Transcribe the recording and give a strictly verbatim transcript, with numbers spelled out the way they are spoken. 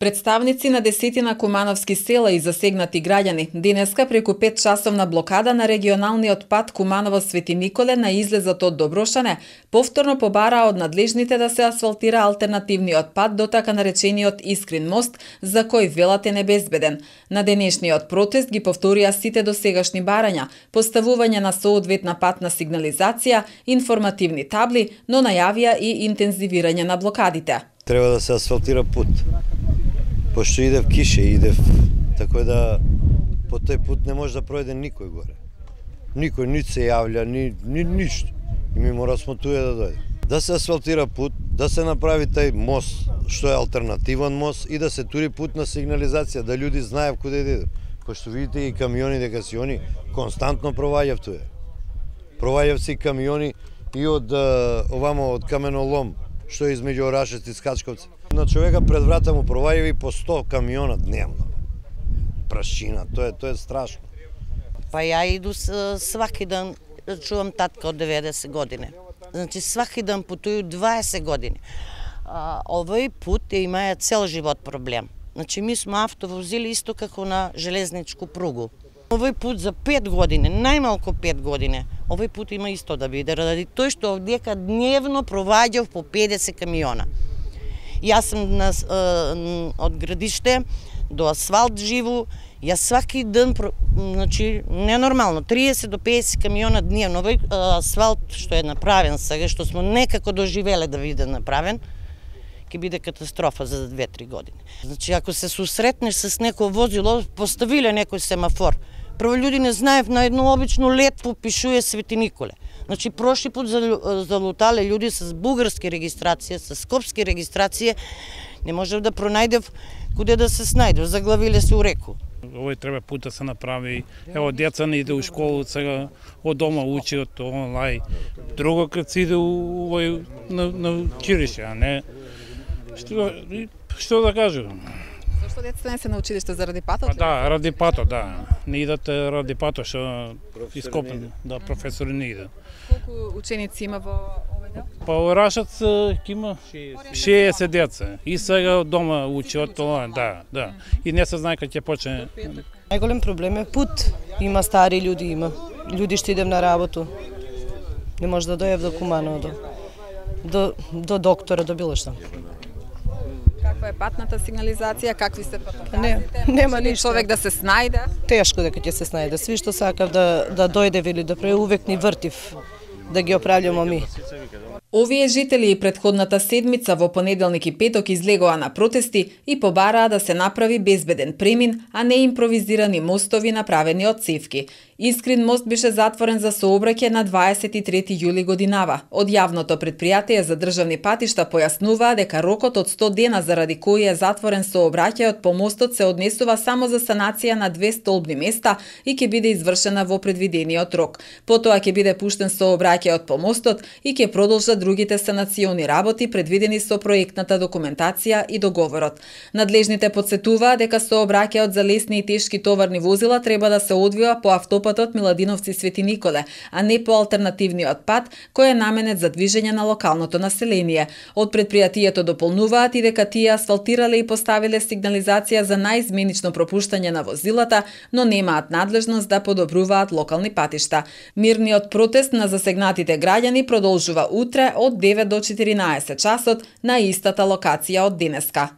Представници на десетина кумановски села и засегнати граѓани денеска преку пет часовна блокада на регионалниот пат Куманово-Свети Николе на излезот од Доброшане повторно побараа од надлежните да се асфалтира алтернативниот пат до така наречениот Искрин мост, за кој велат е небезбеден. На денешниот протест ги повторија сите досегашни барања, поставување на соодветна патна сигнализација, информативни табли, но најавија и интензивирање на блокадите. Треба да се асфалтира пут. Пошто иде в кише, иде в... Така да по тој пут не може да пројде никој горе. Никој ни се јавља, ни, ни ништо. И ми мора смо туе да дојде. Да се асфалтира пут, да се направи тај мост, што е алтернативен мост, и да се тури путна сигнализација, да луѓе знаев куде да идат. Пошто видите и камиони дека си они константно проваѓав туе. Проваѓав си камиони и од овамо од каменолом, што е измеѓу Орашец и Скачковци. На човека пред врата му проваѓави по сто камиона дневно. Прашина, тоа е, тоа е страшно. Па ја иду сваки ден, чувам татка од деветдесет години. Значи сваки ден путую дваесет години. А, овој пут има цел живот проблем. Значи ми сме автовозили исто како на железничку пругу. Овој пут за пет години, најмалку пет години, овој пут има исто да биде, ради тој што овдека дневно проваѓав по педесет камиона. Јас сум на, од градиште до асфалт живу, јас сваки ден, значи, ненормално, триесет до педесет камиона дневно. Овој асфалт што е направен сега, што смо некако доживеле да биде направен, ќе биде катастрофа за две-три години. Значи, ако се susретнеш с некој возило, поставиле некој семафор, прво луѓе не знаев, на едно обично летво пишуе Свети Николе. Значи, прошли пут залутале луѓе с бугарски регистрација, с скопски регистрација, не можев да пронајдев куде да се снајдев, заглавиле се у реку. Овој треба пут да се направи. Ево, деца не иде у школу, сега од дома учи од онлайн. Друго кад се иде у, овој, на, на училище, а не... Што, што да кажам? Зашто децата не се на училиште заради патот? А, да, ради патот, да. Не идат ради патот, што ископен, да, професори не идат. Колку ученици има во овој дел? Па Орашец има шеесет деца. И сега од дома учи од тоа, да, да. И не се знае кога ќе почне. Најголем проблем е пут. Има стари луѓе, има луѓе што идем на работу. Не може да дојдев до Куманово, до, до, до доктора, до било што. Каква е патната сигнализација, какви се патоказите? Не, нема ништо. Човек да се снајде? Тешко дека ќе се снајде. Сви што сакав да, да дојде или да пре, увек ни вртив да ги оправljamo ми. Овие жители и претходната седмица во понеделник и петок излегоа на протести и побараа да се направи безбеден премин, а не импровизирани мостови направени од цевки. Искрин мост беше затворен за сообраќај на дваесет и трети јули годинава. Од јавното претпријатие за државни патишта појаснуваа дека рокот од сто дена заради кој е затворен сообраќајот по мостот се однесува само за санација на две столбни места и ќе биде извршена во предвидениот рок. Потоа ќе биде пуштен сообраќајот по мостот и ќе продолжат другите санациони работи предвидени со проектната документација и договорот. Надлежните подсетуваа дека сообраќајот за лесни и тешки товарни возила треба да се одвива по автопатот Миладиновци Свети Николе, а не по алтернативниот пат кој е наменет за движење на локалното население. Од предпријатието дополнуваат и дека тие асфалтирале и поставиле сигнализација за најизменично пропуштање на возилата, но немаат надлежност да подобруваат локални патишта. Мирниот протест на засегнатите граѓани продолжува утре од девет до четиринаесет часот на истата локација од денеска.